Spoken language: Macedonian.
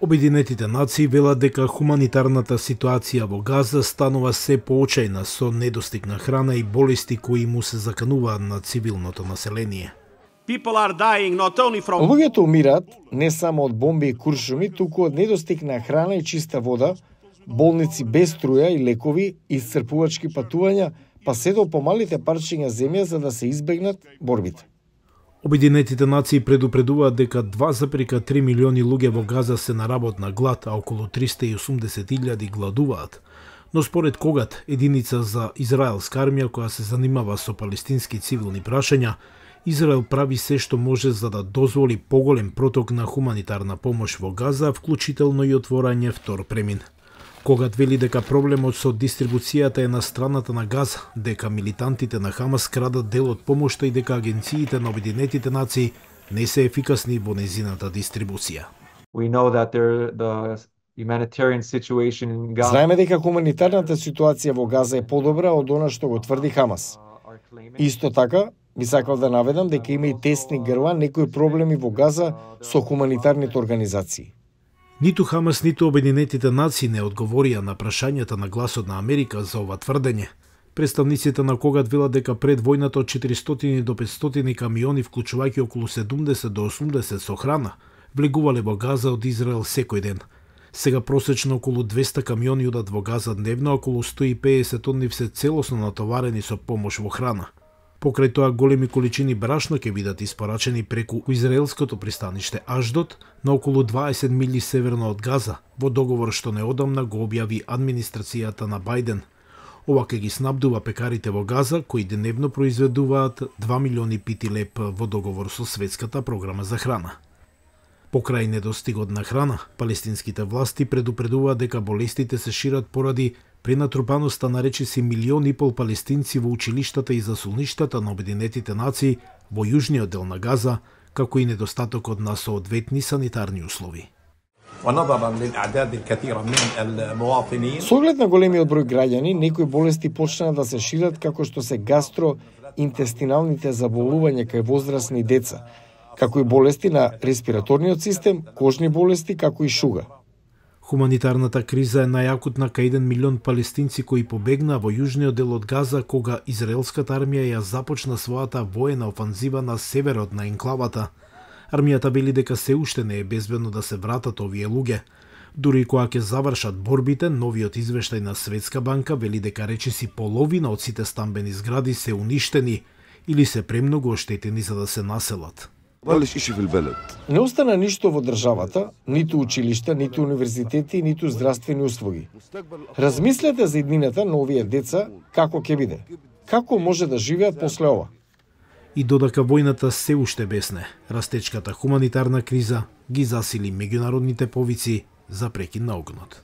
Обединетите нации велат дека хуманитарната ситуација во Газа станува се поочајна со недостиг на храна и болести кои му се закануваат на цивилното население. Луѓето умираат не само од бомби и куршуми, туку од недостиг на храна и чиста вода, болници без струја и лекови, исцрпувачки патувања, па се до помалите парчиња земја за да се избегнат борбите. Обединетите нации предупредуваат дека 2,3 милиони луѓе во Газа се на работна глад, а околу 380.000 гладуваат. Но според Когат, единица за израелска армија која се занимава со палестински цивилни прашања, Израел прави се што може за да дозволи поголем проток на хуманитарна помош во Газа, вклучително и отворање втор премин. Когат вели дека проблемот со дистрибуцијата е на страната на Газа, дека милитантите на Хамас крадат дел од помошта и дека агенциите на Обединетите нации не се ефикасни во незината дистрибуција. Знаеме дека хуманитарната ситуација во Газа е подобра од она што го тврди Хамас. Исто така, би сакал да наведам дека има и тесни грла некои проблеми во Газа со хуманитарните организации. Ниту Хамас, ниту Обединетите нации не одговорија на прашањата на Гласот на Америка за ова тврдење. Представниците на Когат велат дека пред војната од 400 до 500 камиони, вклучувајќи околу 70 до 80 со храна, влегувале во Газа од Израел секој ден. Сега просечно околу 200 камиони одат во Газа дневно, околу 150 од нив се целосно натоварени со помош во храна. Покрај тоа, големи количини брашно ќе бидат испорачени преку израелското пристаниште Аждот на околу 20 мили северно од Газа, во договор што неодамна го објави администрацијата на Бајден. Ова ќе ги снабдува пекарите во Газа, кои дневно произведуваат 2 милиони пити леб во договор со Светската програма за храна. Покрај недостигот на храна, палестинските власти предупредуваат дека болестите се шират поради пренатрупаноста на речиси 1,5 милиони палестинци во училиштата и засолништата на Обединетите нации во јужниот дел на Газа, како и недостатокот на соодветни санитарни услови. Со оглед на големиот број граѓани, некои болести почнаа да се шират како што се гастроинтестиналните заболувања кај возрастни деца, како и болести на респираторниот систем, кожни болести, како и шуга. Хуманитарната криза е најакутна кај 1 милион палестинци кои побегнаа во јужниот дел од Газа кога израелската армија ја започна својата воена офанзива на северот на енклавата. Армијата вели дека се уште не е безбедно да се вратат овие луѓе. Дури и кога ќе завршат борбите, новиот извештај на Светска банка вели дека речиси половина од сите стамбени згради се уништени или се премногу оштетени за да се населат. Не остана ништо во државата, ниту училишта, ниту универзитети, ниту здравствени услуги. Размислете за иднината на овие деца, како ќе биде, како може да живеат после ова. И додека војната се уште бесне, растечката хуманитарна криза ги засили меѓународните повици за прекин на огнот.